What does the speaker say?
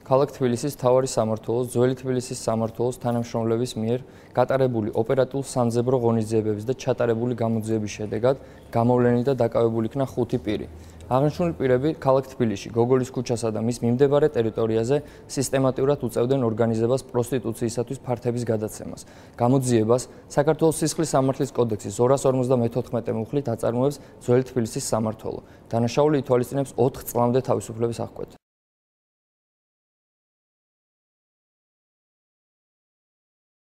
ქალაქ თბილისის მთავარი სამმართველოს, ძველი თბილისის სამმართველოს თანამშრომლების მიერ გატარებული ოპერატიულ-სამძებრო ღონისძიებების და ჩატარებული გამოძიების შედეგად გამოვლენილი და დაკავებული იქნა 5 პირი. აღნიშნული პირები ქალაქ თბილისში, გოგოლის ქუჩასა და მის მიმდებარე ტერიტორიაზე სისტემატურად უწევდნენ ორგანიზებას პროსტიტუციისათვის ფართების გადაცემას. გამოძიებას საქართველოს სისხლის სამართლის კოდექსის 254 მუხლით აწარმოებს ძველი თბილისის სამმართველო. დანაშაული ითვალისწინებს 4 წლამდე თავისუფლების აღკვეთას.